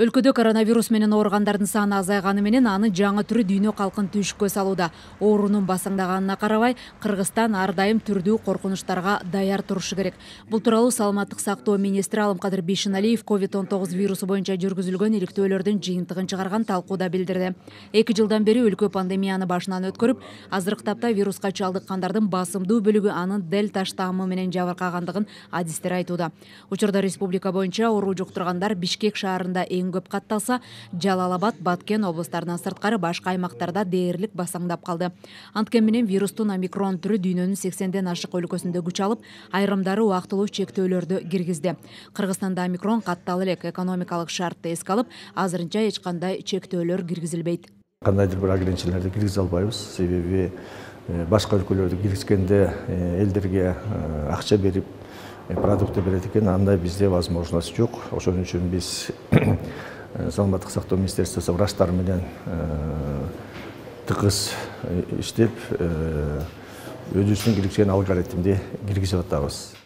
Өлкөдө коронавирус менен ооругандардын саны азайганы менен анын жаңы түрү дүйнө калкын түшүккө салууда. Оорунун басаңдаганына карабай, Кыргызстан ар дайым түрдүү коркунучтарга даяр турушу керек. Бул тууралуу саламаттык сактоо министри Алымкадыр Бейшеналиев COVID-19 вирусу боюнча жүргүзүлгөн иликтөөлөрдүн жыйынтыгын чыгарган талкууда билдирди. 2 жылдан бери өлкө пандемияны башынан өткөрүп, азыркы тапта вируска чалдыккандардын басымдуу бөлүгү анын дельта штаммы менен жабыркагандыгын адистер айтууда. Учурда республика боюнча оору жуктургандар Бишкек шаарында эң көп катталса, Жалал Абад, Баткен облустарынан сырткары башка аймактарда дээрлик басаңдап калды. Анткени менен вирустун омикрон түрү дүйнөнүн 80ден ашык өлкөсүндө күч алып, айрымдары убактылуу чектөөлөрдү киргизди. Кыргызстанда омикрон катталып элек экономикалык шартты эске алып, азырынча эч кандай чектөөлөр киргизилбейт. Кандайдыр бир ограниченияларды киргизе албайбыз, себеби башка өлкөлөрдү киргизгенде элдерге акча берип продукты берет экен, андай бизде возможность жок. Ошон үчүн биз саламаттык сактоо министерствосу врачтар менен тыгыз иштеп, өзүбүздүн киргизген алгоритмди киргизип атабыз.